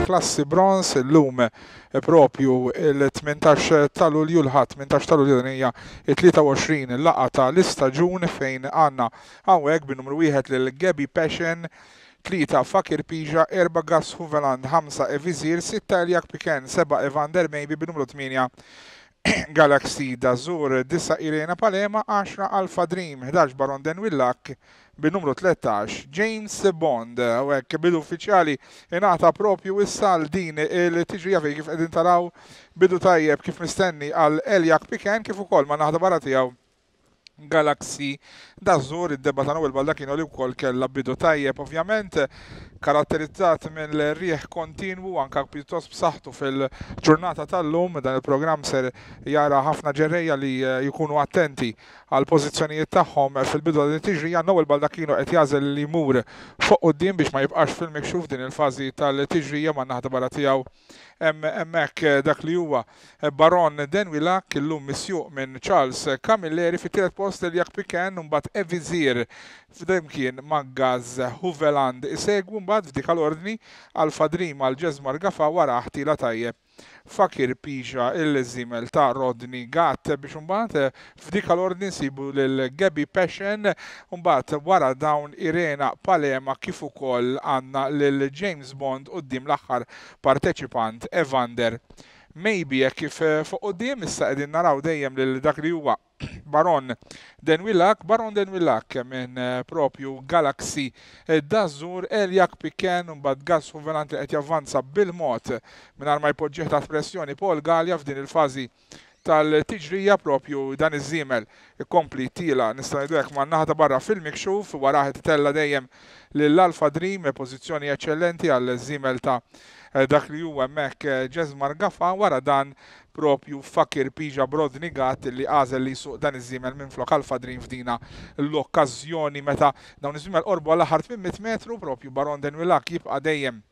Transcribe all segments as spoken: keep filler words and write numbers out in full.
il-klassi bronz illum propju il-tmintax ta' Lulju, l-Ħadd tmintax ta' Lulju, din hija it-tlieta u għoxrin laqgħa tal-istaġun fejn għandna hawnhekk bin-numru wieħed lil Gabi Passion, tlieta Fakir Pija, erba' Gas Huveland, ħamsa Evizir, sitta Eliak Piken, seba' Evander Maybe, bin-numru tmienja Galaxy Dazur, disa' Irena Palema, għaxra Alpha Dream, ħdax Baron Denwillak, bin-numru tlettax James Bond. U hekk bidu uffiċjali ingħata propju issa għal din il-tiġrija fejn kif qegħdin taraw bidu tajjeb kif mistenni għal Eliak Piken kif ukoll ma' naħda barra tiegħu Galaxy Dazur. Id-debba ta' Noel Baldacchino li wkoll kellha bidu tajjeb, ovvjament karatterizzat mill-rieħ kontinwu anka pjuttost b'saħħtu fil-ġurnata tal-lum. Dan il-programm ser jara ħafna ġerrejja li jkunu attenti għal pożizzjonijiet tagħhom fil-bidu ta' din it-tiġrija. Noel Baldacchino qed jagħżel li jmur fuq quddiem biex ma jibqax fil-mikxuf din il-fażi tal-tiġrija. Ma' naħda barra tiegħu hemmhekk dak li huwa Baron Denwilak, illum misjuq minn Charles Camilleri. Fit-tielet post Eliak Piken, mbagħad Evizir flimkien ma' Gaz Huveland isegwu, mbagħad f'dik l-ordni Alpha Dream għal Jesmar Gafa, wara ħtila tajjeb Fakir Pija il-żimel ta' Rodney Gatt, biex imbagħad f'dik l-ordni nsibu lil Gabi Passion, mbagħad wara dawn Irena Palema kif ukoll għandna lil James Bond quddiem l-aħħar parteċipant Evander Maybe. Hekk kif fuq quddiem issa qegħdin naraw dejjem lil dak li huwa Baron Denwillak, Baron Denwillak minn propju Galaxy Dazur, Eliak Piken, mbagħad Gas Huveland li qed javvanza bil-mod mingħajr ma jpoġġih taħt pressjoni Paul Gallia f'din il-fażi tal-tiġrija. Propju dan iż-żiemel ikompli tila nista' ngħidu hekk man-naħa ta' barra fil-mikxuf, wara qed itella' dejjem lil Alpha Dream, pożizzjoni eċċellenti għal żiemel ta' dak li huwa hemmhekk Jesmar Gafa, wara dan propju Fakir Pija Brodni Gatt li għażel li jsuq dan iż-żiemel minn flok Alpha Dream f'dina l-okkażjoni meta dawn iż-żiemel qorbu għal aħħar tmien mitt metru. Propju Baron Denwillak jibqa' dejjem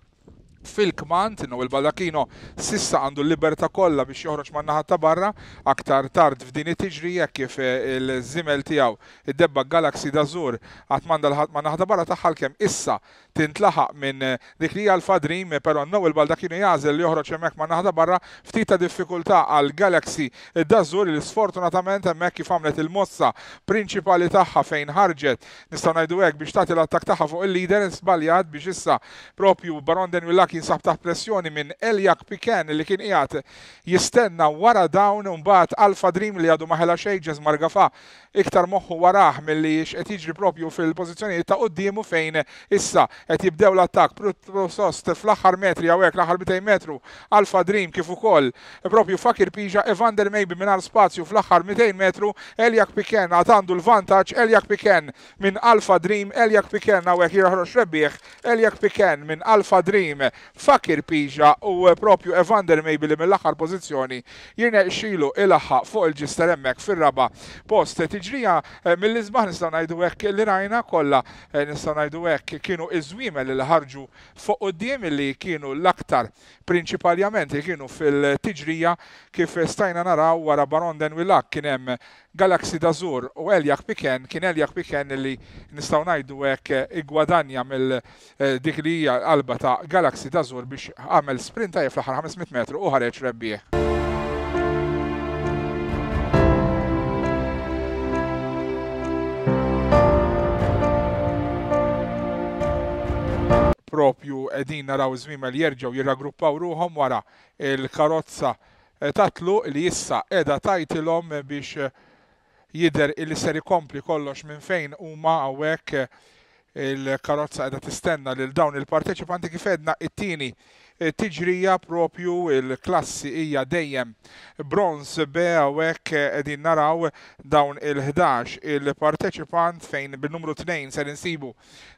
fil-kmand, Noel Baldacchino sissa għandu l-libertà kollha biex joħroġ man-naħa ta' barra aktar tard f'din it-tiġrija kif il-żimel tiegħu id-debba Galaxy Dazur qatt m'għandha l-ħadd man-naħa ta' barra tagħha kemm issa tintlaħaq minn dik li hija Alpha Dream, però Noel Baldacchino jagħżel li joħroġ hemmhekk man-naħa ta' barra. Ftit ta' diffikultà għal Galaxy Dazur li sfortunatament hemmhekk kif għamlet il-mossa prinċipali tagħha fejn ħarġet nistgħu ngħidu hekk biex tagħti l-attakk tagħha fuq il-leader, żbaljat biex issa propju Baron Denwillak jinsab taħt pressjoni minn Eliak Piken li kien qiegħed jistenna wara dawn, u mbagħad Alpha Dream li għadu ma ħela xejn, Jesmar Gafa iktar moħħu warah milli x'qed jiġri propju fil-pożizzjonijiet ta' quddiemu fejn issa qed jibdew l-attakk pjuttost fl-aħħar metri hawnhekk l-aħħar mitejn metru Alpha Dream kif ukoll propju Fakir Pija, Evander Maybe mingħajr spazju fl-aħħar mitejn metru. Eliak Piken għad għandu l-vantaġġ, Eliak Piken minn Alpha Dream, Eliak Piken hawnhekk joħroġ rebbieħ, Eliak Piken minn Alpha Dream, Fakir Pija u propju Evander Maybe li mill-aħħar pożizzjoni jirnexxielu ilaħħaq fuq il-ġister hemmhekk fir-raba' post. Tiġrija mill-isbaħ nistgħu ngħidu hekk li rajna kollha, nistgħu ngħidu hekk kienu iż-żwiemel li ħarġu fuq quddiem li kienu l-aktar prinċipalment li kienu fil-tiġrija kif stajna naraw wara Baron Denwillak kien hemm Galaxy Dazur u Eliak Piken. Kien Eliak Piken li nistgħu ngħidu hekk igwadanja mill dik li hija l-qalba ta' Galaxy Dazur biex għamel sprint tajjeb fl-aħħar ħames mitt metru u ħareġ rebbieħ. Propju qegħdin naraw iż-żwiemel jerġgħu jirraggruppaw ruħhom wara il-karozza tatlu li issa qiegħda tajtilhom biex jidher illi ser ikompli kollox minn fejn huma hawnhekk. Il-karozza qiegħda tistenna lil dawn il-parteċipanti kif għedna it-tieni tiġrija propju il-klassi hija dejjem bronz B hawnhekk qegħdin naraw dawn il-ħdax il-parteċipant fejn bin-numru tnejn ser insibu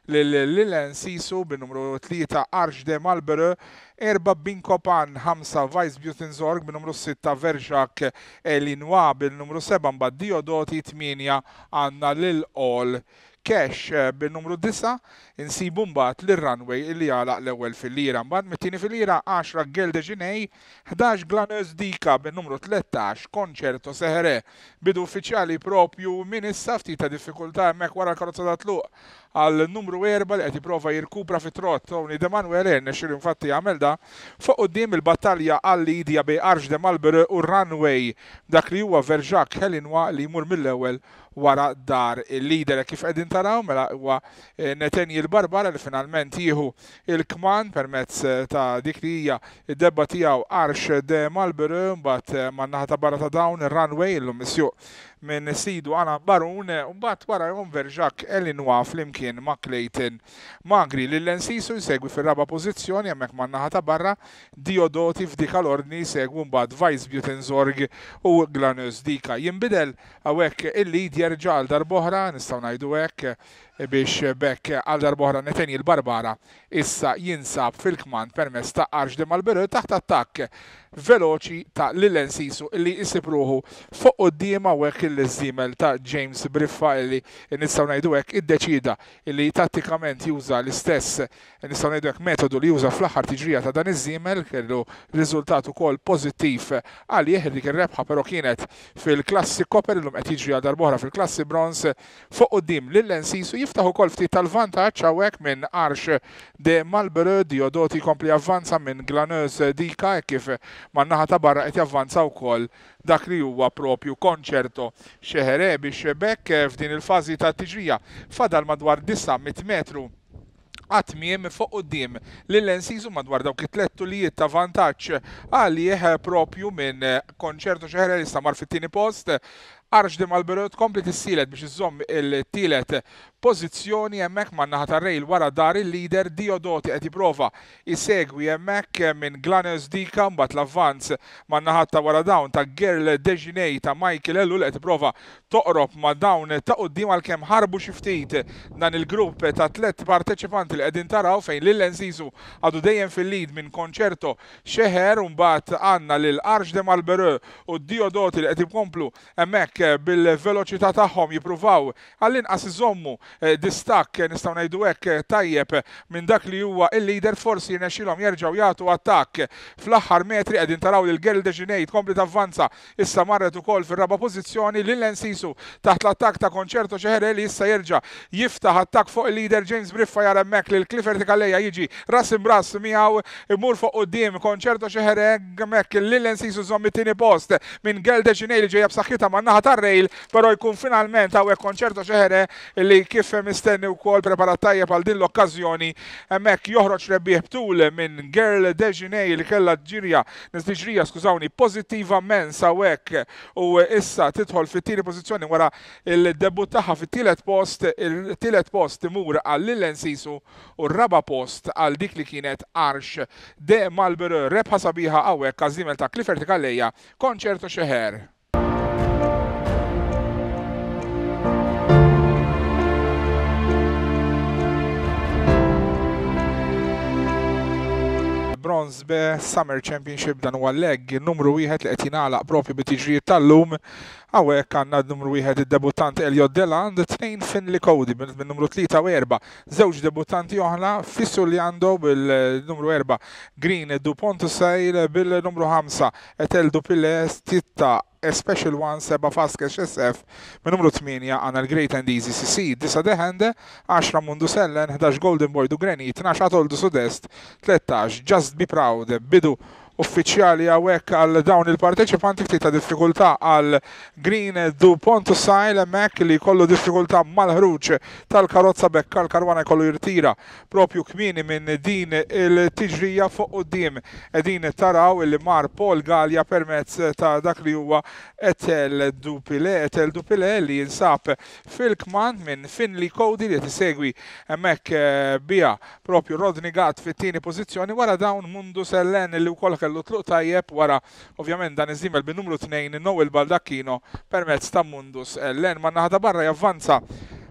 lil Lilen Sisu, bin-numru tlieta Arch de Malbere, erba' Binkopan, ħamsa Vice Butenzorg, bin-numru sitta Verjak Elinwa, bin-numru seba' mbagħad Diodoti, tmienja għandna lil All Cash, bin-numru disa' insibu mbagħad lir-runway li għalaq l-ewwel fil-lira. Mbagħad mit-tieni fil-lira għaxra Gelde Ġinej, ħdax Glaneuse Dika, bin-numru tlettax Concerto Sehere. Bidu uffiċjali propju minn issa, ftit ta' diffikultà hemmhekk wara l-karozza ta' tluq għal numru erba' li qed jipprova jirkupra fit-trot Tony De Manuel, nexxielu infatti jagħmel da. Fuq quddiem il-battalja għal lead hija bejn Arch de Malbere u Runway, dak li huwa Verjak Helinwa li jmur mill-ewwel wara dar il-leader. Kif qegħdin taraw mela huwa Nathaniel Barbara li finalment jieħu il-kman permezz ta' dik li hija id-debba tiegħu Arch de Malbere, mbagħad man-naħa ta' barra ta' dawn ir-Runway illum misjuq minn sidu Anna Barun, mbagħad warahom Verjak Elinwa flimkien ma' Clayton Magri. Lil Ensisu jsegwi fir-raba' pożizzjoni hemmhekk man-naħa ta' barra, Diodoti f'dik l-ordni jsegwu mbagħad Vice Butenzorg u Glanus Dika. Jinbidel hawnhekk il-lead jerġa' għal darb'oħra, nistgħu ngħidu hekk, biex bekk għal darb'oħra Nathaniel Barbara issa jinsab fil-kmand permezz ta' Arch de Malbere taħt attakk veloċi ta' Lil Ensisu illi jsib ruħu fuq quddiem hawnhekk il-żiemel ta' James Briffa illi nistgħu ngħidu hekk iddeċida illi tattikament juża l-istess nistgħu ngħidu hekk metodu li juża fl-aħħar tiġrija ta' dan iż-żiemel, kellu riżultat ukoll pożittiv għalih. Dik ir-rebħa però kienet fil-klassi Copper, illum qed jiġri għal darb'oħra fil-klassi Bronze. Fuq quddiem Lil Ensisu jiftaħ ukoll ftit tal-vantaġġ hawnhekk minn Arch de Malbere. Diodoti jkompli javvanza minn Glaneuse Dika kif man-naħa ta' barra qed javvanza wkoll dak li huwa propju Concerto Xehere, biex bekk f'din il-fażi ta' tiġrija fadal madwar disa' mitt metru għat-tmiem. Fuq quddiem Lil Ensisu madwar dawk it-tliet tulijiet ta' vantaġġ għalih propju minn Concerto Xehere li issa mar fit-tieni post. Arch de Malbere tkompli tissielet biex iżomm il-tielet pożizzjoni hemmhekk man-naħa tar-rail wara dar il-leader. Diodoti qed jipprova jsegwi hemmhekk minn Glaneus Dika, mbagħad l-avvanz man-naħa ta' wara dawn ta' Girl Dejinej ta' Michael Ellul qed jipprova toqrob ma' dawn ta' quddiem għalkemm ħarbu xi ftit dan il-grupp ta' tliet parteċipanti li qegħdin taraw, fejn Lil Ensisu għadu dejjem fil-lead minn Concerto Xeher, u mbagħad għandna lil Arch de Malbere u Diodoti li qed jkomplu hemmhekk bil-veloċità tagħhom jippruvaw għall-inqas iżommu distakk nistgħu ngħidu hekk tajjeb minn dak li huwa il-leader. Forsi jirnexxilhom jerġgħu jagħtu attakk fl-aħħar metri. Qegħdin taraw lil Girl Dejinej tkompli tavvanza, issa marret ukoll fir-raba' pożizzjoni. Lil Ensisu taħt l-attakk ta' Concerto Xehere li issa jerġa' jiftaħ attakk fuq il-leader. James Briffa jara hemmhekk lil Clifford Calleja jiġi ras imbras miegħu, imur fuq quddiem Concerto Xehere hemmhekk Lil Ensisu żomm it-tieni post minn Girl Dejinej li ġejja b'saħħitha man-naħa tar-rail, però jkun finalment hawnhekk Concerto Xehere li kif mistenni wkoll preparat tajjeb għal din l-okkażjoni hemmhekk joħroġ rebbieħ btul minn Girl Dejinej li kellha ġirja, tiġrija skużawni, pożittiva mens hawnhekk, u issa tidħol fit-tieni pożizzjoni wara il-debut tagħha fit-tielet post. Il-tielet post imur għal Lil Ensisu u r-raba' post għal dik li kienet Arch de Malbere. Rebħa sabiħa hawnhekk għaż-żiemel ta' Clifford Calleja, Concerto Xeher. Bronze B Summer Championship, dan huwa leg numru wieħed li qed jingħalaq propju bit-tiġrijiet tal-lum. Hawnhekk għandna numru wieħed id-debuttant Elliot Deland, tnejn Finley Cody minn numru tlieta u erba', żewġ debuttanti oħra Fissuliando bil-numru erba' Green Dupont Sale bil-numru ħamsa Etel Dupile, sitta A Special One, seba' Fast Cash S F, minn numru tmienja għandna l-Great and Easy C C, disa' The Hand, għaxra Mundu Sellen, ħdax Golden Boy du Granit, tnax Atol du Sud-Est, tlettax Just Be Proud. Bidu uffiċjali hawnhekk għal dawn il-parteċipanti, ftit ta' diffikultà għal Green Dupont Sale hemmhekk li jkollu diffikultà mal-ħruġ tal-karozza, bekk għal-karwana jkollu jirtira propju kmieni minn din il-tiġrija. Fuq quddiem qegħdin taraw li mar Paul Gallia permezz ta' dak li huwa Etel Dupile, Etel Dupile li jinsab fil-kmand minn Finley Cody li qed isegwi hemmhekk bija propju Rodney Gatt fit-tieni pożizzjoni, wara dawn Mundu Sellen li wkoll kellu tluq tajjeb, wara ovvjament dan iż-żiemel bin numru tnejn Noel Baldacchino permezz ta' Mundus Ellen. Man-naħa ta' barra javvanza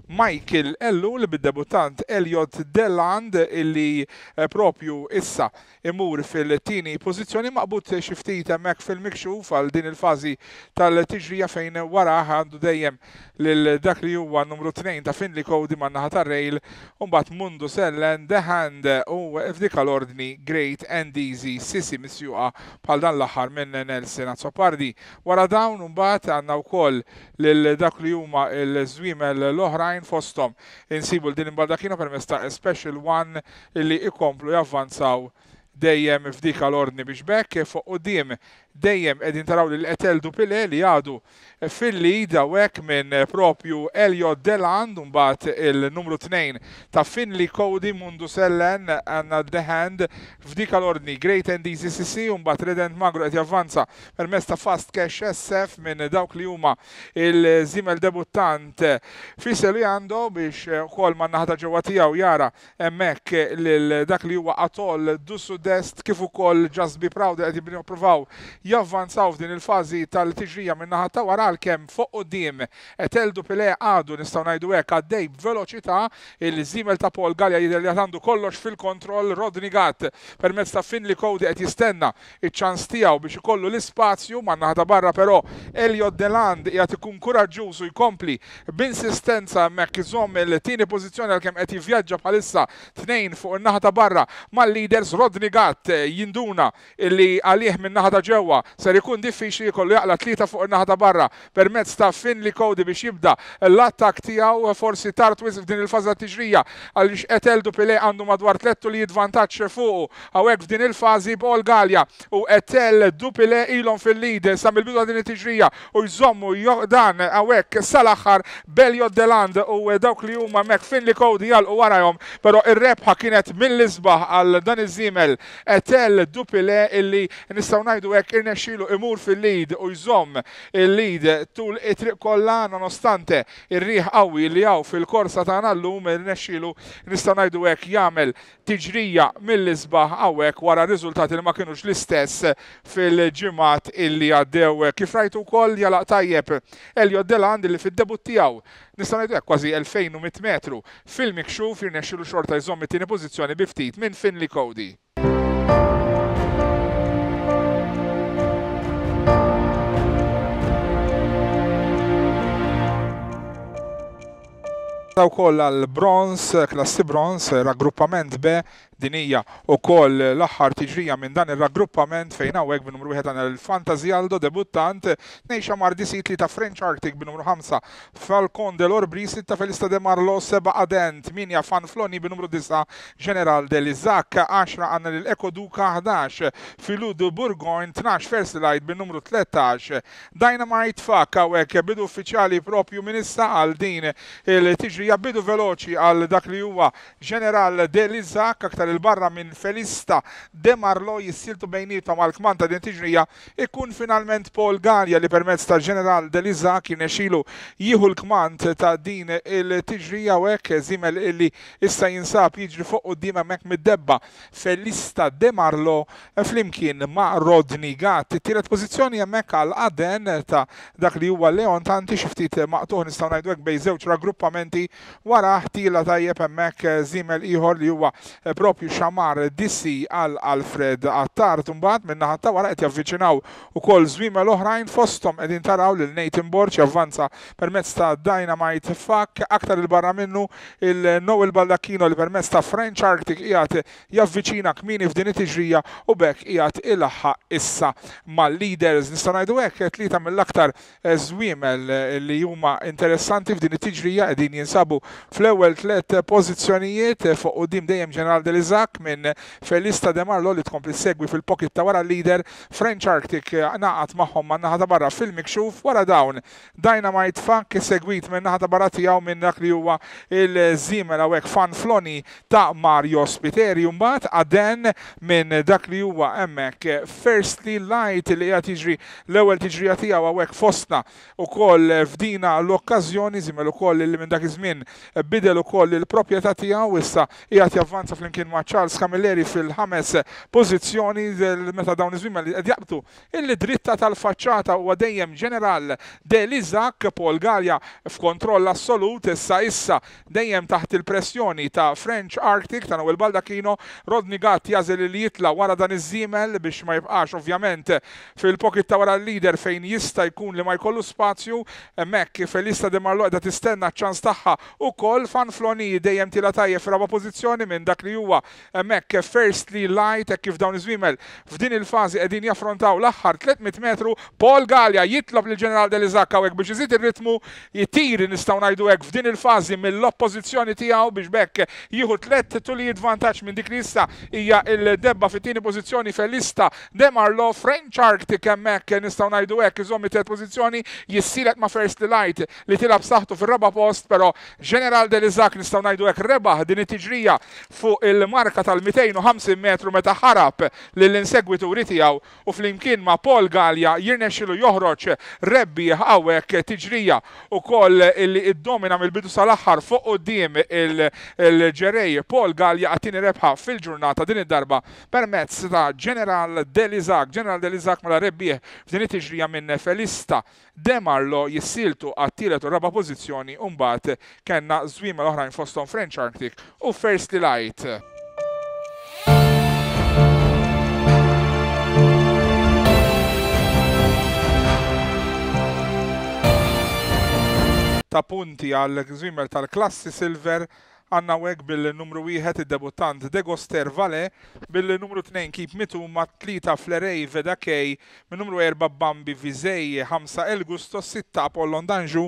Michael Ellul bid-debuttant Elliot Deland illi propju issa imur fil-tieni pożizzjoni, maqbud xi ftit hemmhekk fil-mikxuf għal din il-fażi tal-tiġrija fejn wara għandu dejjem lil dak li huwa numru tnejn ta' Finley Cody man-naħa tar-rail, u mbagħad Mundu Sellen, The Hand u f'dik l-ordni Great and Easy Sisi misjuqa bħal dan l-aħħar minn Nelson Azzopardi. Wara dawn mbagħad għandna wkoll lil dak li huma l-żwiemel l-oħrajn oħrajn fosthom insibu l-Dylan Baldacchino permezz ta' Special One illi ikomplu javvanzaw dejjem f'dik l-ordni biex bekk fuq quddiem dejjem qegħdin taraw lil Etel Dupile li għadu fil-lead hawnhekk minn propju Elliot Deland, mbagħad il-numru tnejn ta' Finley Cody, Mundu Sellen, għandna The Hand f'dik l-ordni Great and Easy C C, mbagħad Redent Magro qed javvanza permezz ta' Fast Cash S F minn dawk li huma il-żiemel debuttant Fisel li għandu biex ukoll man-naħa ta' ġewwa tiegħu jara hemmhekk lil dak li huwa Atoll du Sud-Est kif ukoll Just Be Proud qed jippruvaw javvanzaw f'din il-fażi tal-tiġrija minn naħa ta' wara, għalkemm fuq quddiem Etel Dupile għadu nistgħu ngħidu hekk għaddej b'veloċità. Il-żiemel ta' Paul Galea jidher li għandu kollox fil-kontroll. Rodney Gatt permezz ta' Finley Cody qed jistenna iċ-ċans tiegħu biex ikollu l-ispazju man-naħa ta' barra, però Elliot Deland qiegħed ikun kuraġġuż u jkompli b'insistenza hemmhekk iżomm il-tieni pożizzjoni għalkemm qed jivvjaġġa bħalissa tnejn fuq in-naħa ta' barra mal-leaders. Rodney Gatt jinduna illi għalih min-naħa ta' ġewwa ser ikun diffiċli jkollu jaqla tlieta fuq in-naħa ta' barra permezz ta' Finley Cody biex jibda l-attak tiegħu, forsi tard wisq f'din il-fażi tat-tiġrija għaliex Etel Dupile għandu madwar tliet tulijiet vantaġġ fuqu hawnhekk f'din il-fażi. Paul Galea u Etel Dupile ilhom fil-lead sa mill-bidu ta' din it-tiġrija u jżommu dan hawnhekk sal-aħħar. Elliot Deland u dawk li huma hemmhekk Finley Cody jalqu warahom, però ir-rebħa kienet mill-isbaħ għal dan iż-żiemel Etel Dupile illi nistgħu ngħidu hekk irnexxielu imur fil-lead u jżomm il-lead tul it-triq kollha nonostante ir-riħ qawwi li hawn fil-korsa tagħna llum. Irnexxielu nistgħu ngħidu hekk jagħmel tiġrija mill-isbaħ hawnhekk wara riżultati li ma kinux l-istess fil-ġimgħat illi għaddew. Kif rajtu wkoll jalaq tajjeb Elliot Deland li fid-debut tiegħu nistgħu ngħidu hekk kważi elfejn u mitt metru fil-mikxuf jirnexxielu xorta jżomm it-tieni pożizzjoni bi ftit minn Finley Cody. Wkoll għal bronz, klassi bronz, raggruppament B, din hija wkoll l-aħħar tiġrija minn dan ir-raggruppament fejn hawnhekk bin-numru wieħed għandna l-Fantasy Aldo debuttant, tnejn Xamar D C, tlieta French Arctic bin-numru ħamsa Falcon de l'Orbri, sitta Felista de Marlo, seba' Aden, tmienja Fanfloni bin-numru disa' General de Lizac, għaxra għandna lil Eco Duca, ħdax Filou de Bourgogne, tnax First Light bin-numru tlettax Dynamite Fuck. Hawnhekk bidu uffiċjali propju minn issa għal din il-tiġrija, bidu veloċi għal dak li huwa General de Lizac, aktar il-barra minn Felista de Marlo jissiltu bejnietom għal kmand ta' din tiġrija ikun finalment Paul Galea li permezz ta' General de Lizac jirnexxielu jieħu l-kmand ta' din il-tiġrija u hekk żiemel illi issa jinsab jiġri fuq quddiem hemmhekk mid-debba Felista de Marlo flimkien ma' Rodney Gatt. It-tielet pożizzjoni hemmhekk għal Aden ta' dak li huwa Leon Tanti, xi ftit maqtuħ nistgħu ngħidu hekk bejn żewġ raggruppamenti, wara ħtila tajjeb hemmhekk żiemel ieħor li huwa propju Xamar D C għal Alfred Attard. Imbagħad min-naħa ta' wara qed javviċinaw ukoll żwiemel oħrajn, fosthom qegħdin taraw lil Nathan Borg javvanza permezz ta' Dynamite Fuck, aktar il-barra minnu il-Noel Baldacchino li permezz ta' French Arctic qiegħed javviċina kmieni f'din it-tiġrija u b'hekk qiegħed ilaħħaq issa mal-leaders. Nistgħu ngħidu hekk tlieta mill-aktar żwiemel li huma interessanti f'din it-tiġrija qegħdin jinsabu fl-ewwel tliet pożizzjonijiet, fuq quddiem dejjem General de Lizac minn Felista de Marlo li tkompli segwi fil-pocket ta' wara l-leader. French Arctic naqat magħhom man-naħa ta' barra fil-mikxuf, wara dawn Dynamite Funk segwit minn naħa ta' barra tiegħu minn dak li huwa il-żiemel hawnhekk Fanfloni ta' Mario Spiteri, mbagħad Aden minn dak li huwa hemmhekk Firstly Light li qiegħed jiġri l-ewwel tiġrija tiegħu hawnhekk fostna ukoll f'dina l-okkażjoni, żiemel ukoll li minn dak iż-żmien bidel ukoll il-proprjetà tiegħu, issa qiegħed javvanza flimkien ma' Charles Camilleri fil-ħames pożizzjoni meta dawn iż-żwiemel li qed jaqbdu il-dritta tal-faċċata huwa dejjem General de Lizac. Paul Galea f'kontroll assolut issa issa dejjem taħt il-pressjoni ta' French Arctic ta' Noel Baldacchino. Rodney Gatt jażel li jitla' wara dan iż-żiemel biex ma jibqax ovvjament fil-pocket ta' wara l-leader fejn jista' jkun li ma jkollu spazju. Hemmhekk Felista de Marlo qiegħda tistenna ċ-ċans tagħha ukoll Fanfloni dejjem tila tajjeb fir-raba' pożizzjoni minn dak li huwa hemmhekk Firstly Light hekk kif dawn iż-żwiemel f'din il-fażi qegħdin jaffrontaw l-aħħar tliet mitt metru. Paul Galea jitlob lil Ġeneral Delizak hawnhekk biex iżid ir-ritmu, jitiri nistgħu ngħidu hekk f'din il-fażi mill-oppożizzjoni tiegħu biex bekk jieħu tliet tulijiet vantaġġ minn dik li issa hija il-debba fit-tieni pożizzjoni Felista De Marlo. French Arctic hemmhekk nistgħu ngħidu hekk iżomm it-tielet pożizzjoni, jissielet ma' Firstly Light li tilab saħħtu fir-raba' post, però Ġeneral Delizak nistgħu ngħidu hekk rebaħ din it-tiġrija fuq il-marka tal-mitejn u ħamsin metru meta ħarab lill-insegwituri tiegħu u flimkien ma' Paul Galea jirnexxilu joħroġ rebbieħ hawnhekk tiġrija ukoll illi iddomina mill-bidu sal-aħħar fuq quddiem il-ġerej Paul Galea għat-tieni rebħa fil-ġurnata din id-darba permezz ta' Ġeneral Delizak. Ġeneral Delizak mela rebbieħ f'din it-tiġrija minn Felista De Marlo jissiltu għat-tielet u raba' pożizzjoni u mbagħad kellna żwiemel oħrajn fosthom French Arctic u Firstly Light. Ta' punti għal żwiemel tal-klassi Silver għandna hawnhekk bil-numru wieħed id-debuttant Degoster Vale, bil-numru tnejn Keep Mituma, tlieta Flerej Vedakej, min-numru erba' Bambi Vizej, ħamsa El Gusto, sitta Apollon Danju,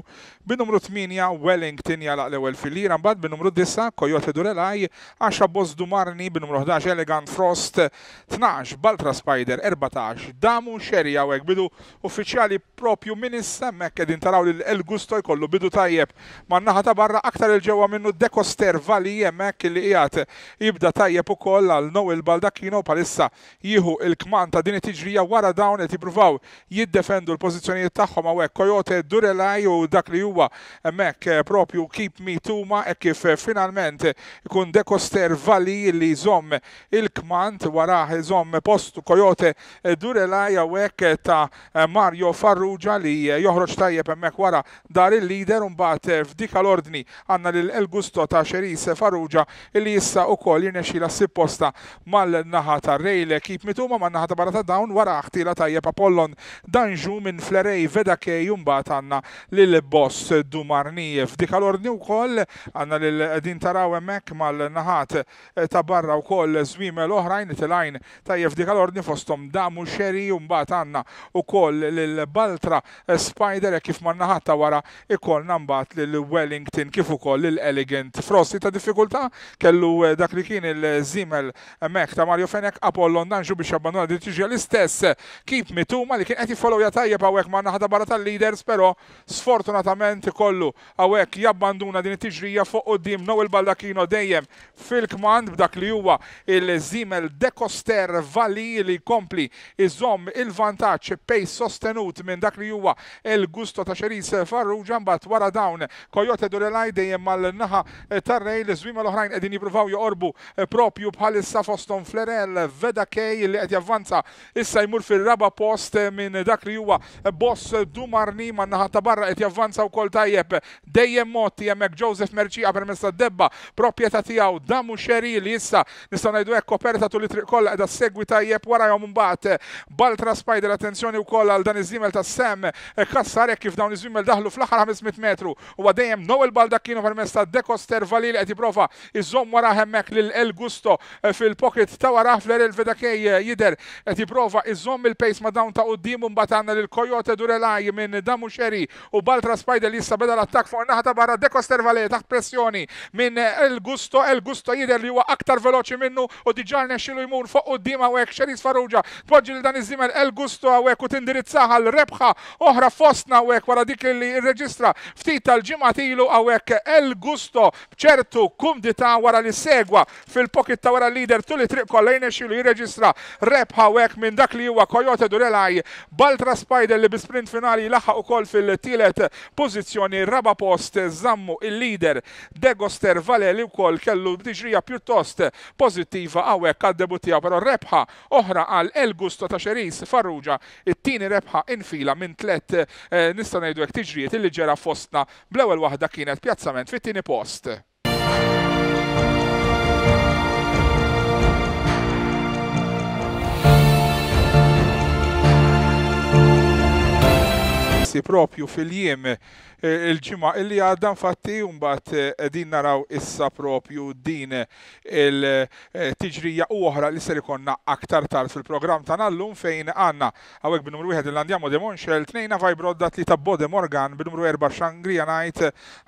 bin-numru tmienja Wellington jalaq l-ewwel filira, mbagħad bin-numru disa' Coyote Durelaj, għaxra Boss Dumarni, bin-numru ħdax Elegant Frost, tnax Baltra Spider, erbatax Damu Sherry. Hawnhekk bidu uffiċjali propju minn issa hemmhekk qegħdin taraw lil El Gusto jkollu bidu tajjeb man-naħa ta' barra, aktar il-ġewwa minnu Decoster Vali hemmhekk li qiegħed jibda tajjeb ukoll għal Noel Baldacchino palissa jieħu il-kman ta' din it-tiġrija. Wara dawn qed jippruvaw jiddefendu l-pożizzjonijiet tagħhom hawnhekk Coyote Durelaj u dak li huwa hemmhekk propju Keep Me Tuma hekk kif finalment ikun Decoster Vali li jżomm il-kmand, warah iżomm postu Coyote Durelaj hawnhekk ta' Mario Farrugia li joħroġ tajjeb hemmhekk wara dar il-leader. U mbagħad f'dik l-ordni għandna lil El Gusto ta' Xeris Farrugia illi issa ukoll jirnexxila ssib posta mal-naħa tar-rejl. Keep Mituma man-naħa ta' barra ta' dawn, wara ħtila tajjeb Apollon Danju minn Flerej Vedakej u mbagħad għandna lil Boss Dumarni. F'dik l-ordni wkoll għandna lil din taraw hemmhekk mal-naħat ta' barra wkoll żwiemel oħrajn tilgħin tajjeb f'dik l-ordni fosthom Damu Sherry u mbagħad għandna wkoll lil Baltra Spider kif man-naħat ta' wara ikollna mbagħad lil Wellington kif ukoll lil Elegant Frost. Ta' diffikultà kellu dak li kien il-żiemel hemmhekk ta' Mario Fenech Apollon Danju biex jabbanduna din it-tiġrija. L-istess Keep Mituma li kien qed jiffollowja tajjeb hawnhekk man-naħa ta' barra tal-leaders, però sfortunatament ikollu hawnhekk jabbanduna din it-tiġrija fuq quddiem Noel Baldacchino dejjem fil-kmand b'dak li huwa il-żiemel Decoster Vali li jkompli iżomm il-vantaġġ pace sostenut minn dak li huwa El Gusto ta' Xeris Farrugia. Mbagħad wara dawn Coyote Durelaj dejjem mal-naħa tar-rejl, iż-żwiemel l-oħrajn qegħdin jippruvaw joqorbu propju bħalissa fosthom Flerel Vedakej li qed javvanza issa jmur fir-raba' post minn dak li huwa Boss Dumarni man-naħa ta' barra qed javvanza wkoll tajjeb dejjem motti hemmhekk Joseph Merċija permezz tad-debba proprjetà tiegħu Damu Sherry li issa nistgħu ngħidu hekk koperta tul it-triq kollha qiegħda ssegwi tajjeb warahom. Imbagħad Baltra Spider, attenzjoni wkoll għal dan iż-żiemel ta' Sam Kassar hekk kif dawn iż-żwiemel daħlu fl-aħħar ħames mitt metru huwa dejjem Noel Baldacchino permezz ta' Decoster Vali li qed jipprova iżomm wara hemmhekk lil El Gusto fil-pocket ta' wara. Flerel Vedakej jidher qed jipprova iżomm il-pace ma' dawn ta' quddiem u mbagħad għandna lil Coyote Durelaj minn Damu Sherry u Baltra Spider li issa beda l-attakk fuq in-naħa ta' barra. Decoster Vale taħt pressjoni minn El Gusto. El Gusto jidher li huwa aktar veloċi minnu u diġà rnexxielu jmur fuq quddiem hawnhekk. Xeris Farrugia tpoġġi lil dan iż-żiemel El Gusto hawnhekk u tindirizzah għal rebħa oħra fostna hawnhekk wara dik li rreġistra ftit tal-ġimgħat ilu hawnhekk El Gusto b'ċertu kumdità wara li segwa fil-pocket ta' wara l-leader tul it-triq kollha jirnexxielu jirreġistra rebħa hawnhekk minn dak li huwa Coyote Durelaj. Baltra Spider li bi sprint finali laħaq ukoll fil-tielet pożizzjoni, raba' post żammu il-leader Degoster Vale li wkoll kellu tiġrija pjuttost pożittiva hawnhekk għad-debut tiegħu, però rebħa oħra għal El Gusto ta' Xeris Farrugia, it-tieni rebħa infila minn tliet nistgħu ngħidu hekk tiġrijiet illi ġera fostna, bl-ewwel waħda kienet pjazzament fit-tieni post. il-klassi propju fil-jiem il-ġimgħa illi għadda infatti, mbagħad qegħdin naraw issa propju din il-tiġrija u oħra li ser ikonna aktar tard fil-programm tagħna llum, fejn għandna hawnhekk bin-numru wieħed il-Andiamo de Monchel, tnejn Navai Brodda, tlieta Bode Morgan, bin-numru erba' Shangria Night,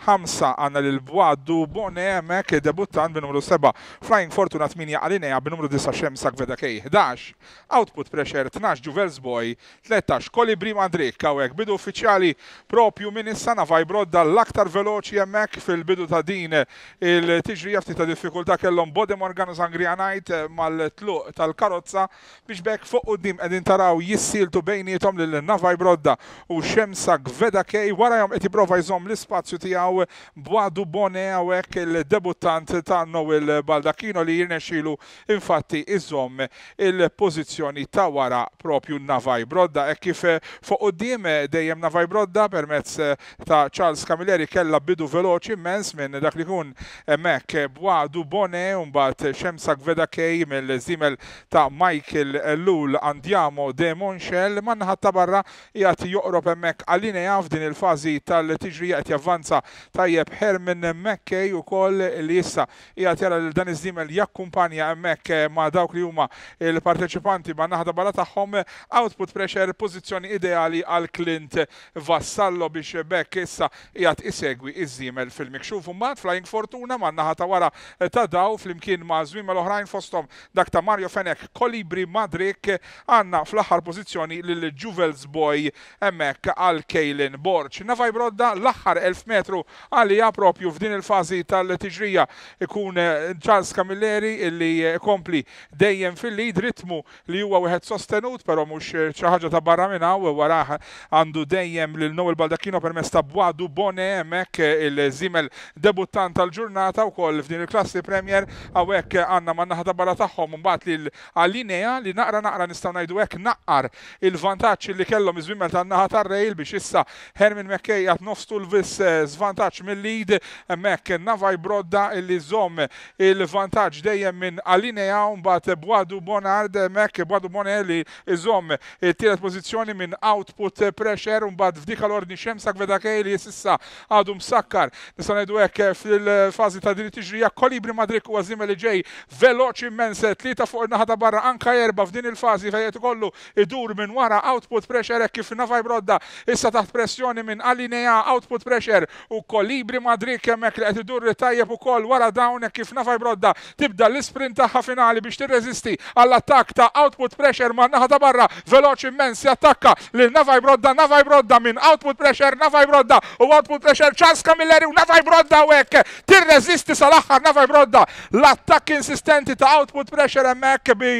ħamsa għandna lil Bwadu Bone hemmhekk debuttant, bin-numru seba' Flying Fortuna, tmienja Alinea, bin-numru disa' Xemsa Gveda K, ħdax Output Pressure, tnax Juvels Boy, tlettax Kolibri Madrik. Hawnhekk bidu uffiċjali propju minn issa. Navai Brodda l-aktar veloċi hemmhekk fil-bidu ta' din il-tiġrija, ftit ta' diffikultà kellhom Bode Morgan u Sangria Night mal-tluq tal-karozza, biex bekk fuq quddiem qegħdin taraw jissieltu bejniethom lil Navai Brodda u Xemsa Gveda K. Warahom qed jipprova jżomm l-ispazju tiegħu Bwadu Bone hawnhekk il-debuttant ta' Noel Baldacchino, li jirnexxielu infatti iżomm il-pożizzjoni ta' wara propju Navai Brodda. Hekk kif fuq quddiem dejjem Navai Brodda permezz ta' Charles Camilleri kella bidu veloċi immens minn dak li jkun hemmhekk Bwadu Bone, u mbagħad Xemsa Gveda K mill-żiemel ta' Michael Ellul Andiamo de Monchel. Man-naħa ta' barra qiegħed joqrob hemmhekk Alinea f'din il-fażi tal-tiġrija, qed javvanza tajjeb Herman McKay ukoll, li issa qiegħed jara lil dan iż-żiemel jakkumpanja hemmhekk ma' dawk li huma il-parteċipanti man-naħa ta' barra tagħhom. Output Pressure, pożizzjoni ideali għal Clint Vassallo biex bekk issa qiegħed isegwi iż-żiemel fil-mikxuf. Mbagħad Flying Fortuna man-naħa ta' wara ta' daw flimkien ma' żwiemel oħrajn fosthom dak ta' Mario Fenech Kolibri Madrik. Għandna fl-aħħar pożizzjoni lil Juvels Boy hemmhekk għal Kaylin Borg. Navai Brodda l-aħħar elf metru għalija propju f'din il-fażi tal-tiġrija ikun Charles Camilleri illi kompli dejjem fil-lead, ritmu li huwa wieħed sostenut però mhux xi ħaġa ta' barra minn hawn. Warah għandu dejjem lil Noel Baldacchino permezz ta' Bwadu Bone hemmhekk il-żiemel debuttant tal-ġurnata wkoll f'din il-klassi Premier. Hawnhekk għandna man-naħa ta' barra tagħhom mbagħad lil Alinea li naqra naqra nistgħu ngħidu hekk naqqar il-vantaġġ li kellhom iż-żwiemel tan-naħa tar-rail, biex issa Herman McKay qed nofstu l-vis żvantaġġ mill-lead hemmhekk Navai Brodda illi żomm il-vantaġġ dejjem minn Alinea, u mbagħad Bwadu Bonard hemmhekk Bwadu Bone li iżomm it-tielet pożizzjoni minn Output Pressure, u mbagħad f'dik l-ordni Xemsa Gveda K li s'issa għadu msakkar nistgħu ngħidu hekk fil-fażi ta' din it-tiġrija. Kolibri Madrik huwa żiemel li ġej veloċi immens, tlieta fuq in-naħa ta' barra, anka erba' f'din il-fażi fejn qed ikollu idur minn wara Output Pressure, hekk kif Navai Brodda issa taħt pressjoni minn Alinea, Output Pressure u Kolibri Madrik hemmhekk li qed idur tajjeb ukoll wara dawn, hekk kif Navai Brodda tibda l-isprint tagħha finali biex tirreżisti għall-attakk ta' Output Pressure man-naħa ta' barra, veloċi immens jattakka lil Navai Brodda, Navai Brodda minn Output Pressure, Navai Brodda u Output Pressure, Charles Camilleri u Navai Brodda hekk tirreżisti sal-aħħar Navai Brodda. L-attakk insistenti ta' Output Pressure hemmhekk bi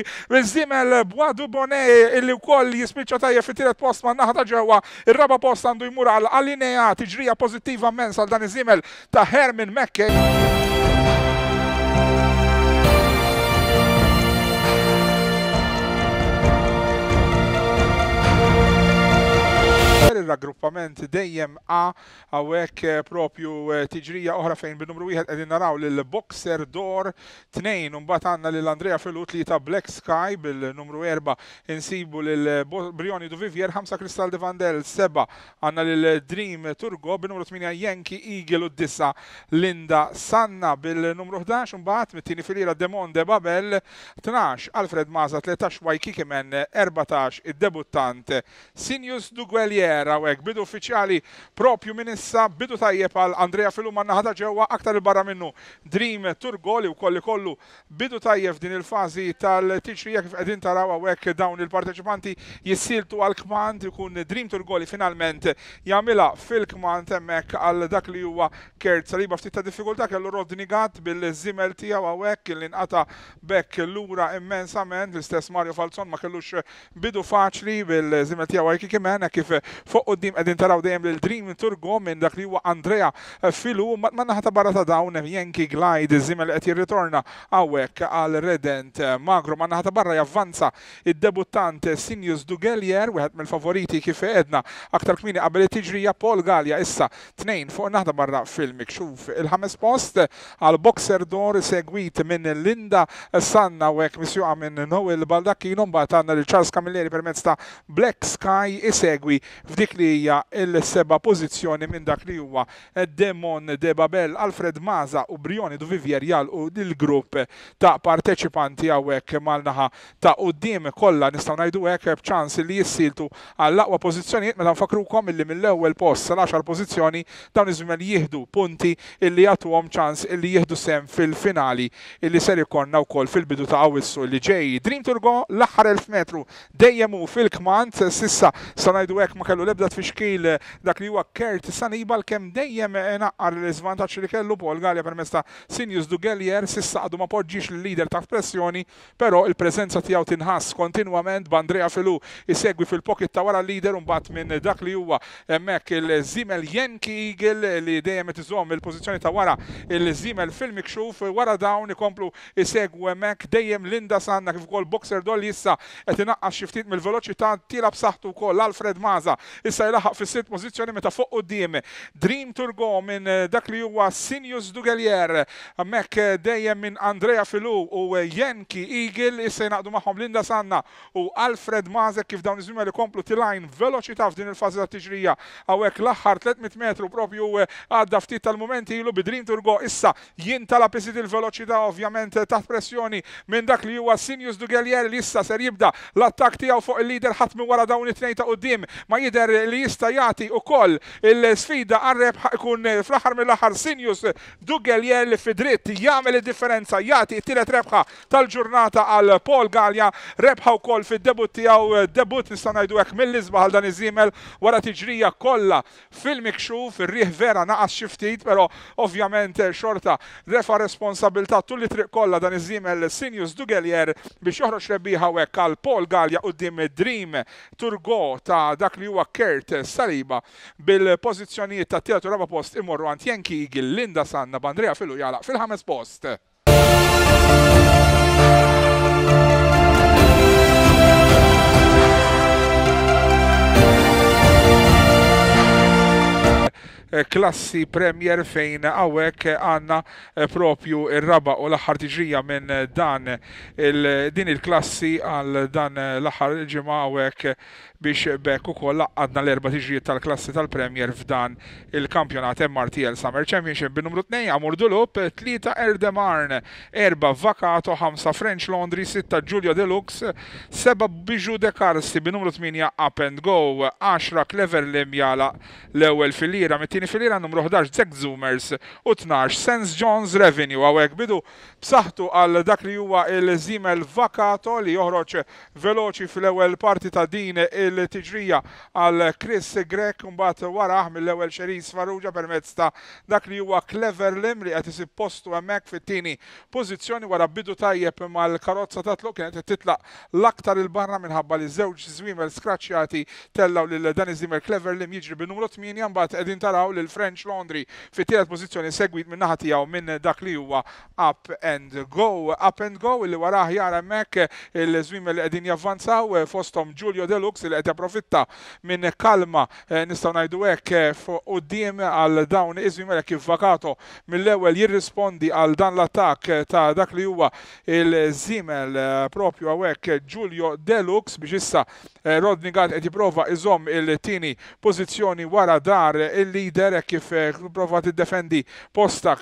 żiemel Bwadu Bone illi wkoll jispiċċa tajjeb fit-tielet post man-naħa ta' ġewwa. Ir-raba' post għandu jmur għal Alinea, tiġrija pożittiva immens għal dan iż-żiemel ta' Herman McKay. Il-raggruppament dejjem A hawnhekk propju tiġrija oħra fejn bin-numru wieħed qegħdin naraw lil Boxer Door, tnejn u mbagħad għandna lil Andrea Filu, tlieta Black Sky, bil-numru erba' insibu lil Brioni du Vivier, ħamsa Crystal de Vandel, seba' għandna lil Dream Turgo, bin-numru tmienja Yankee Eagle u disa Linda Sanna, bil-numru ħdax mbagħad mit-tieni filiera Demon de Babel, tnax Alfred Maza, tlettax Waikiki Men, erbatax id-debuttant Sinius Duguelier. Hawnhekk bidu uffiċjali propju minn issa, bidu tajjeb għal Andrea Filu man-naħa ta' ġewwa, aktar il-barra minnu Dream Turgo li wkoll ikollu bidu tajjeb f'din il-fażi tal-tiġrija kif qegħdin taraw hawnhekk dawn il-parteċipanti jissieltu għal kmand, ikun Dream Turgo li finalment jagħmilha fil-kmand hemmhekk għal dak li huwa Kurt Saliba. Ftit ta' diffikultà kellu Rodney Gatt bil-żiemel tiegħu hawnhekk li nqata' bekk lura immensament. L-istess Mario Falzon ma kellux bidu faċli bil-żiemel tiegħu Waikiki Man, kif fuq quddiem qegħdin taraw dejjem lil Dream Turgo minn dak li huwa Andrea Filu, man-naħa ta' barra ta' dawn Yankee Glide, iż-żiemel li qed jirritorna hawnhekk għal Redent Magro. Man-naħa ta' barra javvanza id-debuttant Sinius Dugelier, wieħed mill-favoriti kif għedna aktar kmieni qabel it-tiġrija. Paul Gallia issa tnejn fuq in-naħa ta' barra fil-mikxuf. Il-ħames post għal Boxer Door segwit minn Linda Sanna hawnhekk misjuqa minn Noel Baldacchino, mbagħad għandna lil Charles Camilleri permezz ta' Black Sky isegwi f'dik li hija l-seba' pożizzjoni minn dak li huwa Demon de Babel. Alfred Maza u Brioni du Vivier jalqu il-grupp ta' parteċipanti hawnhekk mal-naħa ta' quddiem, kollha nistgħu ngħidu hekk b'ċans li jissieltu għall-aqwa pożizzjonijiet, meta nfakrukom illi mill-ewwel post sal-għaxar pożizzjoni dawn iż-żwiemel jieħdu punti illi jagħtuhom ċans illi jieħdu sehem fil-finali illi ser ikollna wkoll fil-bidu ta' Awwissu li ġej. Dream Turgo l-aħħar elf metru dejjem hu fil-kmand, sissa sa ngħidu hekk ma kellu l-ebda tfixkil dak li huwa Kurt Sanibal, kemm dejjem naqqar l-iżvantaġġ li kellu Paul Galea permezz ta' Sinjus Dugelier, sissa għadu ma poġġix l-leader ta' pressjoni, però il-preżenza tiegħu tinħass kontinwament b'Andrea Filu isegwi fil-pocket ta' wara l-leader, u mbagħad minn dak li huwa hemmhekk il-żiemel Yankee Eagle li dejjem qed iżomm il-pożizzjoni ta' wara il-żiemel fil-mikxuf. Wara dawn ikomplu isegwu hemmhekk dejjem Linda Sanna kif ukoll Boxer Dolly issa qed inaqqas xi ftit mill-veloċità, tiela b'saħħtu wkoll Alfred Maza issa jlaħaq fis-sitt pożizzjoni, meta fuq quddiem Dream Turgo minn dak li huwa Sinjus Dugelier, hemmhekk dejjem minn Andrea Filu u Yankee Eagle, issa jnaqdu magħhom Linda Sanna u Alfred Maza kif dawn iż-żwiemel ikomplu tilajn veloċità f'din il-fażi tat-tiġrija. Hawnhekk l-aħħar tliet mitt metru propju għadda ftit tal-mumenti ilu bi Dream Turgo issa jintalab iżid il-veloċità, ovvjament taħt pressjoni minn dak li huwa Sinjus Dugelier li issa ser jibda l-attakk tiegħu fuq il-leader. Ħadd minn wara dawn it-tnejn ta' quddiem ma jidher li jista' jagħti wkoll il-sfida għar-rebħ, ikun fl-aħħar mill-aħħar Sinjus Dugelier li fi dritt jagħmel id-differenza, jagħti t-tielet rebħa tal-ġurnata għal Paul Galea, rebħa wkoll fid-debut tiegħu, debut nistgħu ngħidu hekk mill-isbaħ għal dan iż-żiemel wara tiġrija kollha fil-mikxuf. Ir-riħ vera naqas xi ftit, però ovvjament xorta refa' responsabilità tul it-triq kollha dan iż-żiemel Sinjus Dugelier biex joħroġ rebbieħa hawnhekk għal Paul Galea quddiem Dream Turgo ta' dak li huwa Kurt Saliba, bil-pożizzjonijiet ta' tielet u raba' post imorru għand Yankee Eagle, Linda Sanna b'Andrea Filu jalaq fil-ħames post. Klassi Premier fejn hawnhekk għandna propju ir-raba' u l-aħħar tiġrija minn dan il, din il-klassi għal dan l-aħħar ġimgħa hawnhekk, biex bekk ukoll għadna l-erba' tiġrijiet tal-klassi tal-Premier f'dan il-kampjonat M R T L Summer Championship. Bin-numru tnejn Amur Dulup, tlieta Erdemarn, erba' Vakato, ħamsa French Laundry, sitta Giulio Deluxe, seba' Bijou de Carsi, bin-numru tmienja Up and Go, għaxra Clever Lim jala l-ewwel filiera, mit-tieni filiera numru ħdax Zack Zoomers u tnax Saint John's Revenue. Hawnhekk bidu b'saħħtu għal dak li huwa il-żiemel Vakato li joħroġ veloċi fl-ewwel parti ta' din il-tiġrija għal Chris Grech, mbagħad warah mill-ewwel Cherise Farrugia permezz ta' dak li huwa Clever Lim li qed isib postu hemmhekk fit-tieni pożizzjoni wara bidu tajjeb mal-karozza ta' tluq, kienet qed titlaq l-aktar il-barra minħabba li żewġ żwiemel skraċjati tellaw lil dan iż-żiemel Clever Lim jiġri bin-numru tmienja. Mbagħad qegħdin taraw lil French Laundry fit-tielet pożizzjoni segwit minn naħa tiegħu minn dak li huwa Up and Go. Up and Go li warah jara hemmhekk il-żwiemel li qegħdin javvanzaw fosthom Giulio Deluxe li qed japprofitta minn kalma nistgħu ngħidu hekk fuq quddiem għal dawn iż-żwiemel kif Vakato mill-ewwel jirrispondi għal dan l-attakk ta' dak li huwa il-żiemel propju hawnhekk Giulio Deluxe, biex issa Rodney Gatt qed jipprova iżomm il-tieni pożizzjoni wara dar il-leader kif prova tiddefendi posta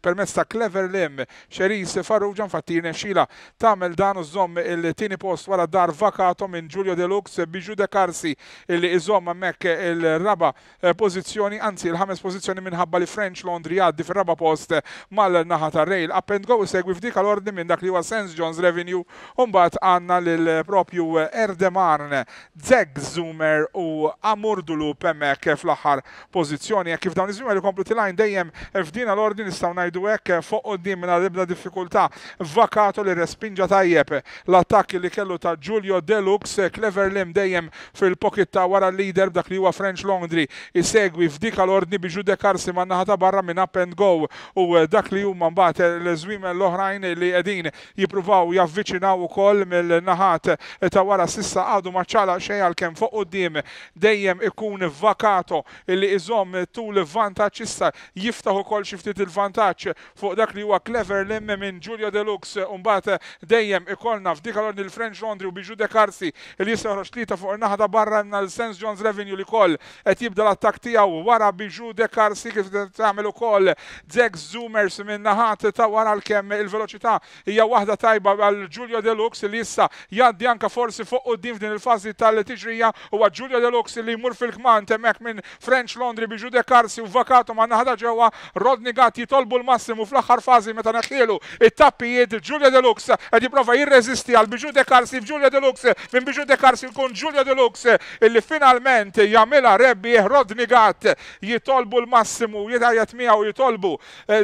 permezz ta' Clever Lim. Cherise Farrugia infatti jirnexxila tagħmel dan u żomm il-tieni post wara dar Vakato minn Giulio Deluxe, Bijou de Carsi illi iżomm hemmhekk il-raba' pożizzjoni, anzi il-ħames pożizzjoni minħabba li French Laundry għaddi fir-raba' post mal-naħa tar-rail. Up and Go isegwi f'dik l-ordni minn dak li huwa Saint John's Revenue, u mbagħad għandna lil propju Erdemarn, Zeg Zoomer u Amur Dulup hemmhekk fl-aħħar pożizzjoni. Kif dawn iż-żwiemel ikomplu tilajn dejjem f'din l-ordni nistgħu ngħidu hekk fuq quddiem mingħajr ebda diffikultà Vakato li respinġa tajjeb l-attakk li kellu ta' Giulio Deluxe, Clever Lim dejjem fil-pocket ta' wara l-leader b'dak li huwa French Laundry isegwi f'dik l-ordni Bijou de Carsi man-naħa ta' barra minn Up and Go u dak li huma mbagħad l-żwiemel l-oħrajn li qegħdin jippruvaw javviċinaw ukoll mill-naħat ta' wara sissa għadu ma ċala xejn għalkemm fuq quddiem dejjem ikun Vakato illi iżomm tul vantaġġ, issa jiftaħ ukoll xi ftit il-vantaġġ fuq dak li huwa Clever Lim minn Giulio Deluxe. Mbagħad dejjem ikollna f'dik l-ordni l-French Laundry u Bijou de Carsi li jista' joħroġ tlieta fuq in-naħa ta' barra għandna l-Saint John's Revenue li koll qed jibda l-attakk tiegħu wara Bijou de Carsi kif tagħmel ukoll Zack Zoomers minn naħat ta' wara, l-kemm il-veloċità hija waħda tajba għal Giulio Deluxe li issa jgħaddi anka forsi fuq quddiem f'din il-fażi tal-tiġrija. Huwa Giulio Deluxe li jmur fil-kmand hemmhekk minn French Laundry, Bijou de Carsi u Vakato ma' naħa ta' ġewwa. Rodney Gatt jitolbu l-massimu fl-aħħar fażi meta neħħielu it-tappijiet. Giulio Deluxe qed jipprova jirreżisti għal Bijou de Carsi, Giulio Deluxe minn Bijou de Carsi jkun Giulio Deluxe illi finalment jagħmilha rebbieħ. Rodney Gatt jitolbu l-massimu, jitgħajjat miegħu, jitolbu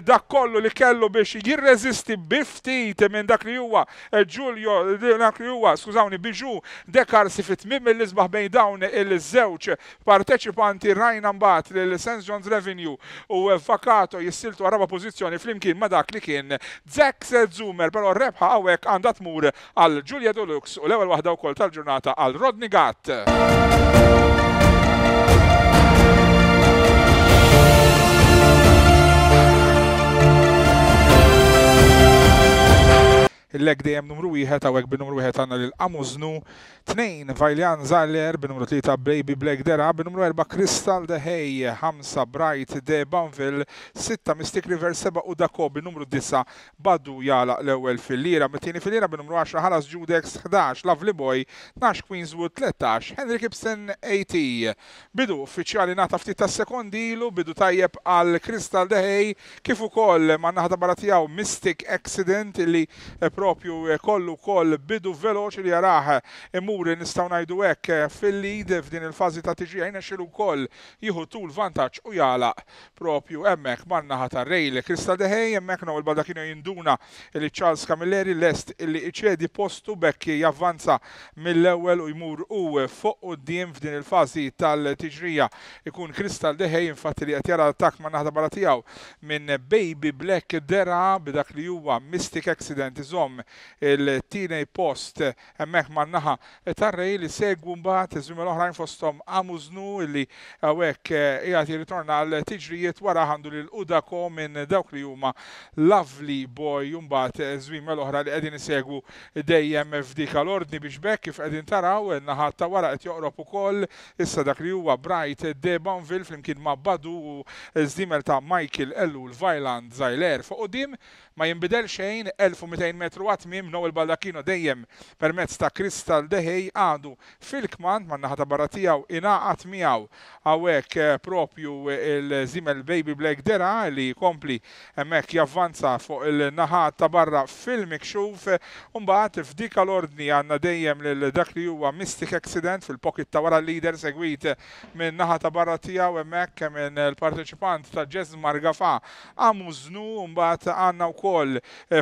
dak kollu li kellu biex jirreżisti bi ftit minn dak li huwa Giulio, dak li huwa, skużawni, Bijou de Carsi fit-tmiem mill-isbaħ bejn dawn il-żewġ parteċipanti. Rajna mbagħad lil Saint John's Revenue u Vakato jissiltu għar-raba' pożizzjoni flimkien ma' dak li kien Zack Zoomer, però r-rebħa hawnhekk għandha tmur għal Giulio Deluxe u l-ewwel waħda wkoll tal-ġurnata għal Rodney Gatt. Il-leg dejjem numru wieħed, hawnhekk bin-numru wieħed għandna lil Amuznu, tnejn Vajljan Zaller, bin-numru tlieta Baby Black Dera, bin-numru erba' Crystal de Hay, ħamsa Bright de Banville, sitta Mystic River, seba' u Dako, bin-numru disa' Badu jagħlaq l-ewwel fil-lira. Mit-tieni fil-lira bin-numru għaxra Ħalas Judex, ħdax Lovely Boy, tnax Queenswood, tlettax Henry Gibson A T. Bidu uffiċjali ngħata ftit ta' sekondi ilu, bidu tajjeb għal Crystal de Hay kif ukoll man-naħa ta' barra tiegħu Mystic Accident li propju kollu wkoll bidu veloċi li jarah imur nistgħu ngħidu hekk fil-lead f'din il-fażi ta' tiġrija, jnexxielu wkoll jieħu tul vantaġġ u jagħlaq propju hemmhekk man-naħa tar-rail. Crystal de Hay hemmhekk Noel Baldacchino jinduna li Charles Camilleri lest li iċedi postu bekk javvanza mill-ewwel u jmur u fuq quddiem f'din il-fażi tal-tiġrija. Ikun Crystal de Hay infatti li qed jara l-attakk man-naħa ta' barra tiegħu minn Baby Black Dera b'dak li huwa Mystic Accident iżomm il-tieni post hemmhekk man-naħa tar-rail. Li segwu mbagħad iż-żwiemel oħrajn fosthom Amuznu li hawnhekk qiegħed jirritorna għal tiġrijiet, wara għandu lil Udako minn dawk li huma Lovely Boy u mbagħad żwiemel oħra li qegħdin isegwu dejjem f'dik l-ordni biex bekk kif qegħdin taraw in-naħa ta' wara qed joqrob ukoll issa dak li huwa Bright de Banville flimkien ma' Badu u żdiemel ta' Michael Ellul Vajlan Zajler. Fuq quddiem ma jinbidel xejn, elf u mitejn metru għat-tmiem. Noel Baldacchino dejjem permezz ta' Crystal de Hay għadu fil-kmand man-naħa ta' barra tiegħu ingħaqad miegħu hawnhekk propju il-żiemel Baby Black Dera li jkompli hemmhekk javvanza fuq il-naħa ta' barra fil-mikxuf. U mbagħad f'dik l-ordni għandna dejjem lil dak li huwa Mystic Accident fil-pocket ta' wara l-leader segwit minn naħa ta' barra tiegħu hemmhekk minn il-parteċipant ta' Jesmar Gafa Amuznu. Mbagħad għandna wkoll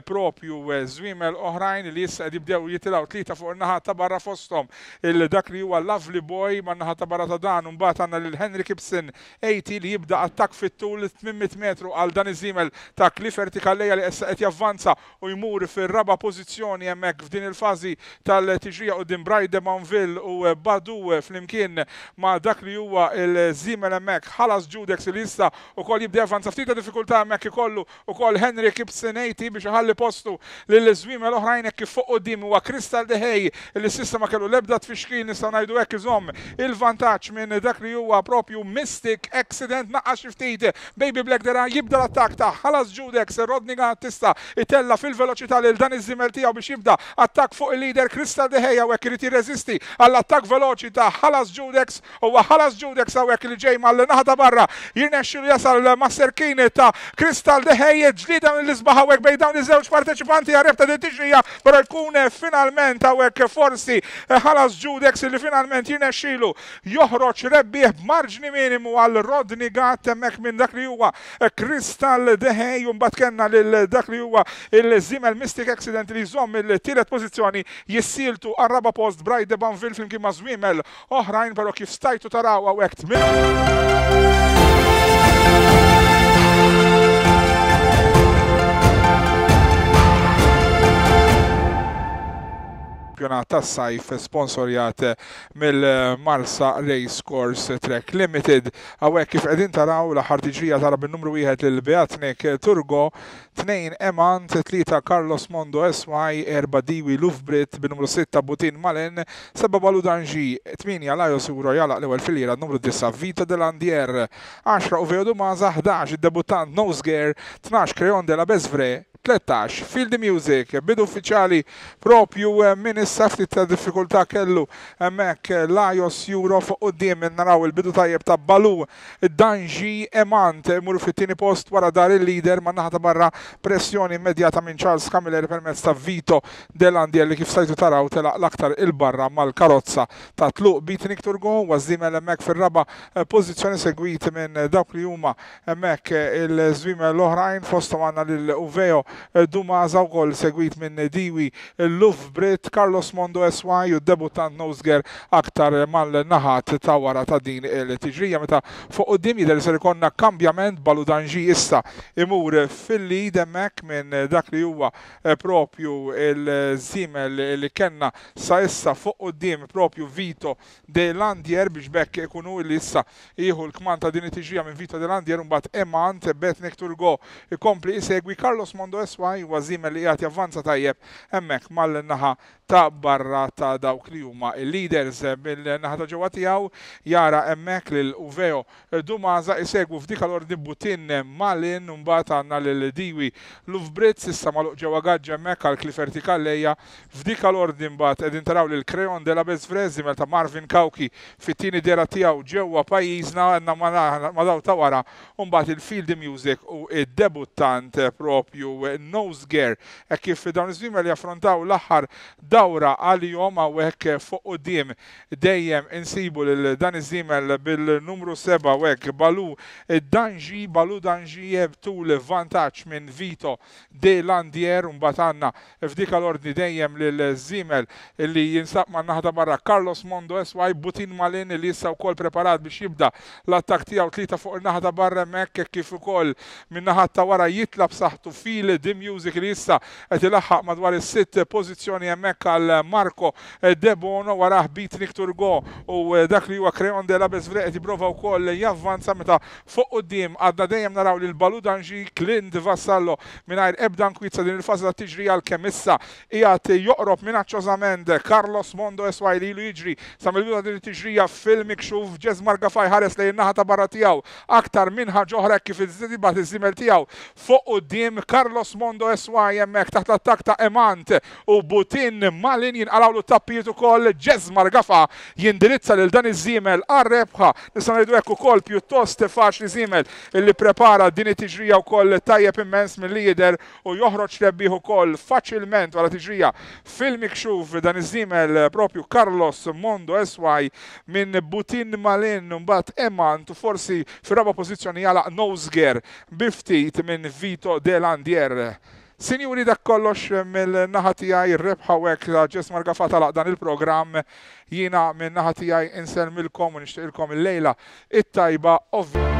propju żwiemel oħrajn li issa qed jibdew jitilgħu tlieta fuq in-naħa ta' barra fosthom il dak li huwa Lovely Boy man-naħa ta' barra ta' dan. Mbagħad għandna lil Henry Gibson A T li jibda attakk fit-tul tmien mitt metru għal dan iż-żiemel ta' Clifford Calleja li issa qed javvanza u jmur fir-raba' pożizzjoni hemmhekk f'din il-fażi tal-tiġrija quddiem Bright de Banville u Badu flimkien ma' dak li huwa il-żiemel hemmhekk Ħalas Judex li issa wkoll jibda javvanza. Ftit ta' diffikultà hemmhekk ikollu wkoll Henry Gibson A T biex iħalli postu lil żwiemel oħrajn hekk kif fuq quddiem huwa Crystal de Hay li s'issa ma kellu l-ebda tfixkil nistgħu ngħidu hekk iżomm il-vantaġġ minn dak li huwa propju Mystic Accident. Naqqas xi ftit Baby Black Dera jibda l-attakk ta' Ħalas Judex. Rodney Gatt tista' itella fil-veloċità lil dan iż-żiemel tiegħu biex jibda attakk fuq il-leader Crystal de Hay hawnhekk irid jirreżisti għall-attakk veloċi ta' Ħalas Judex. Huwa Ħalas Judex hawnhekk li ġej mal-naħa ta' barra jirnexxilu jasal ma' serkin ta' Crystal de Hay. Ġlieda mill-isbaħ hawnhekk bejn dawn iż-żewġ parteċipanti għar-rebħ ta' din tiġrija, però jkun finalment hawnhekk forsi Ħalas Judex li finalment jirnexxilu joħroġ rebbieħ b'marġni minimu għal Rodney Gatt hemmhekk minn dak li huwa Crystal de Hay. U mbagħad kellna lil dak li huwa il-żiemel Mystic Accident li jżomm il-tielet pożizzjoni, jissieltu għar-raba' post Bright de Banville flimkien ma' żwiemel oħrajn, però kif stajtu taraw hawnhekk il-kampjonat tas-sajf sponsorjat mill-Marsa Race Course Track Limited. Hawnhekk kif qegħdin taraw l-aħħar tiġrija tara bin-numru wieħed lil Beatnik Turgo, tnejn Emant, tlieta Carlos Mondo S Y, erba' Diwi Lufbrit, bin-numru sitta Butin Malen, seba' Balu Danġi, tmienja Lajos Euro jalaq l-ewwel filliera, numru disa' Vito Delandier, għaxra Uveo Dumaza, ħdax id-debuttant Nosger, tnax Creon de la Besvre, tlettax Feel the Music. Bidu uffiċjali propju minn issa, ftit ta' diffikultà kellu hemmhekk Lajos Euro fuq quddiem. Naraw il-bidu tajjeb ta' Balu Danġi, Emant imur fit-tieni post wara dar il-leader man naħa ta' barra, pressjoni immedjata minn Charles Camilleri permezz ta' Vito Delandier li kif stajtu taraw telaq l-aktar il-barra mal-karozza ta' tluq. Beatnik Turgo ważżimel hemmhekk fir-raba' pożizzjoni, segwit minn dawk li huma hemmhekk il-żwiemel l-oħrajn, fosthom għandna lil Uveo Dumaza wkoll segwit minn Diwi Lufbrit, Carlos Mondo S Y u debuttant Nosger aktar mal-naħat ta' wara ta' din il-tiġrija. Meta fuq quddiem jidher li ser ikollna kambjament, Balu Danġi issa imur fil-lead hemmhekk minn dak li huwa propju il-żiemel li kellna sa issa fuq quddiem propju Vito Delandier, biex bekk ikunu li issa jieħu l-kmand ta' din it-tiġrija minn Vito Delandier, u mbagħad Emant, Beatnik Turgo ikompli isegwi Carlos Mondo S Y huwa żiemel li qiegħed javvanza tajjeb hemmhekk mal-naħa ta' barra ta' dawk li huma il-leaders. Bil-naħa ta' ġewwa tiegħu jara hemmhekk lil Uveo Dumaza isegwu f'dik l-ordni Butin Malin, u mbagħad għandna lil Diwi Lufbritz issa magħluq ġewwa gaġġa hemmhekk għal Clifferty Calleja. F'dik l-ordni mbagħad qegħdin taraw lil Creon de la Besvre, żiemel ta' Marvin Cauchi fit-tieni dera tiegħu ġewwa pajjiżna, għandna ma' daw ta' wara, u mbagħad il-Feel the Music u id-debuttant propju Nosger. Hekk kif dawn iż-żwiemel jaffrontaw l-aħħar dawra għalihom hawnhekk fuq quddiem dejjem insibu lil dan iż-żiemel bil-numru seba' hawnhekk Balu Danġi, Balu Danġi tul vantaġġ minn Vito Delandier, u mbagħad għandna f'dik l-ordni dejjem lil żiemel li jinsab man-naħa ta' barra Carlos Mondo S Y, Butin Malin li issa wkoll preparat biex jibda l-attakk tiegħu, tlieta fuq in-naħa ta' barra hemmhekk kif ukoll min-naħa ta' wara jitla b'saħħtu Feel the Music li issa qed ilaħħaq madwar is-sitt pożizzjoni hemmhekk għal Marco Debono, warah Beatnik Turgo u dak li huwa Creon de la Besvre qed jipprova wkoll javvanza. Meta fuq quddiem għadna dejjem naraw lil Balu Danġi, Clint Vassallo mingħajr ebda nkwizza din il-fażi ta' tiġri għalkemm issa qiegħed joqrob minaċċożament Carlos Mondo S Y li ilu jiġri sa mill-bidu ta' din it-tiġrija fil-mikxuf. Jesmar Gafaj ħares lejn in-naħa ta' barra tiegħu aktar minn ħaġa oħra kif iżdibat iż-żiemel tiegħu fuq quddiem Carlos Mondo S Y hemmhekk taħt l-attakk ta' Emant u Butin Malin jinqalgħu tappijiet ukoll. Jesmar Gafa jindirizza lil dan iż-żiemel għar-rebħa, nistgħu ngħidu hekk ukoll pjuttost faċli, żiemel illi prepara din it-tiġrija wkoll tajjeb immens milli jidher u joħroġ rebbieħ ukoll faċilment wara tiġrija fil-mikxuf dan iż-żiemel propju Carlos Mondo S Y minn Butin Malin, mbagħad Emant u forsi fir-raba' pożizzjoni jalaq Nosger bi ftit minn Vito Delandier. Sinjuri, dak kollox mill-naħa tiegħi, ir-rebħa hekk ta' Jesmar Gafa talaq dan il-programm. Jiena min-naħa tiegħi insellmilkom u nixtieqilkom il-lejla it-tajba. Ovvja.